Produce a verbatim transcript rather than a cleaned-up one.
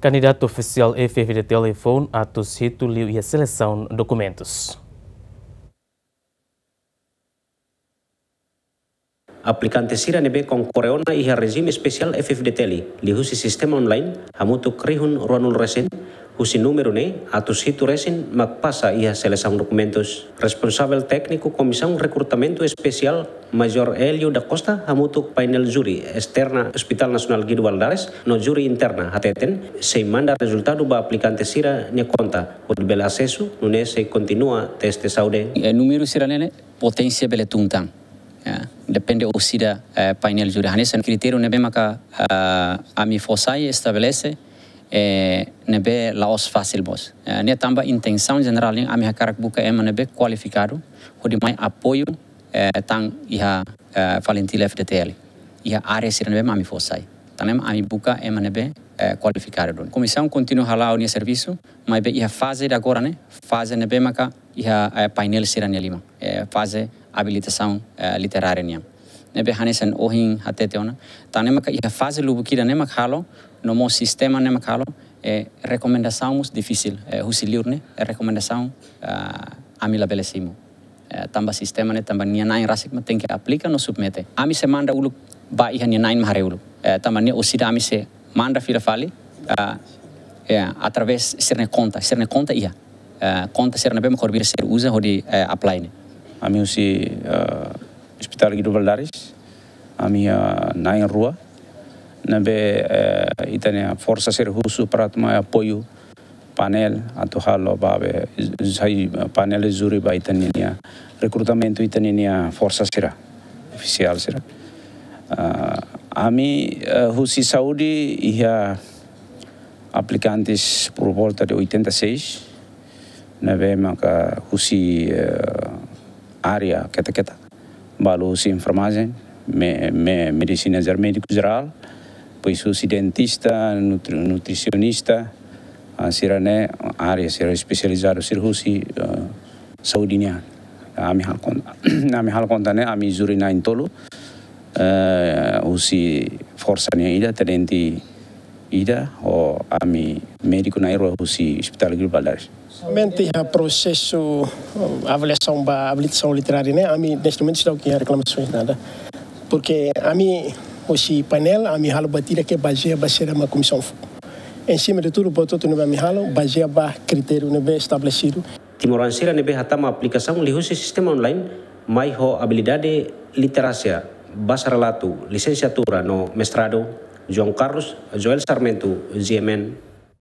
Kandidatu ofisiál F-FDTL foun atus hitu liu iha selesaun dokumentus. Aplikante sira ne'ebé konkorre ona iha rejime espesiál F-FDTL liuhusi sistema online hamutuk rihun ruanulu resin, husi númeru ne'e atus hitu resin mak pasa iha selesaun dokumentus. Responsavel tékniku Komisaun Rekrutamentu Espesiál, Major Hélio da Costa, hamutuk painel júri esterna Hospital Nasionál Guido Valadares no júri interna hateten, sei manda rezultadu ba aplikante sira-nia konta hodi bele asesu, nune'e sei kontinua teste saúde. E númeru sira-ne'e poténsia bele tun tan. Ya, depende orsida, eh, painel júri. Hanesan kritériu ne'ebé maka, ah, ami fó sai estabelese, eh, ne'ebé la'ós fasil mós. Eh, ne'e tanba intensaun jenerál nian ami hakarak buka ema ne'ebé kualifikadu hodi mai apoiu, eh, tan iha, eh, FALINTIL F-FDTL. Iha área sira ne'ebé mak ami fó sai. Tan ne'e mak ami buka ema ne'ebé, eh, kualifikadu duni. Komisaun kontinua hala'o nia servisu, maibé iha faze ida agora ne'e, faze ne'ebé maka iha, eh, painel sira-nia liman, eh, faze abilitasaun, eh, literária nian. Ne'ebé hanesan ohin hatete ona, tan ne'e maka iha faze lubuk ida ne'e mak halo, no mós sistema ne'e mak halo, eh, rekomendasaun mós difisil, eh, husi liur ne'e, eh, rekomendasaun, ah, ami labele simu. Eh, tanba sistema ne'e, tanba nia na'in rasik mak tenke aplika no submete. Ami sei manda uluk ba iha nia na'in mak haree uluk. Eh, tanba ne'e orsida ami sei manda fila fali, ah, ya, através sira-nia konta, sira-nia konta iha. Eh, konta sira ne'ebé mak kór bira sira uza hodi, eh, apply ne'e. Ami husi, eh, Hospital Guido Valadares, ami iha na'in rua, ne'ebé, eh, ita-nia forsa sira husu para atu mai apoiu painel atu halo ba be, sai painel júri ba ita-nia rekrutamentu ita-nia forsa sira, ofisiál sira. Ah, ami, eh, husi saúde iha aplikantes por volta de oitenta e seis, ne'ebé maka husi, eh, área keta-keta, balu husi enfermagem, me-, me-, medisina jer-, médiku jerál, depois husi dentista, nutri-, nutrisionista, ah, sira-ne'e área sira espesializadu sira husi, eh, saúde nian. Ami halo konta, ami halo konta ne'e, ami júri na'in tolu, eh, husi forsa nian ida, tenente ida, ho ami médiku na'in rua husi Hospital Guido Valadares. Somente iha prosesu, eh, avaliasaun ba abilitasaun literária ne'e, ami neste momento seidauk iha reklamasoens nada. Porque ami, husi painel, ami halo buat ida ke bazeia ba saida mak komisaun fó. Em cima de tudo, buat hotu ne'ebé ami halo, bazeia ba kritériu ne'ebé estabelesidu. Timoroan sira ne'ebé hatama aplikasaun liuhusi sistema online, mai ho abilidade literasia, basarelatu, lisensiatura no mestradu. João Carlos, Joel Sarmento, G M N.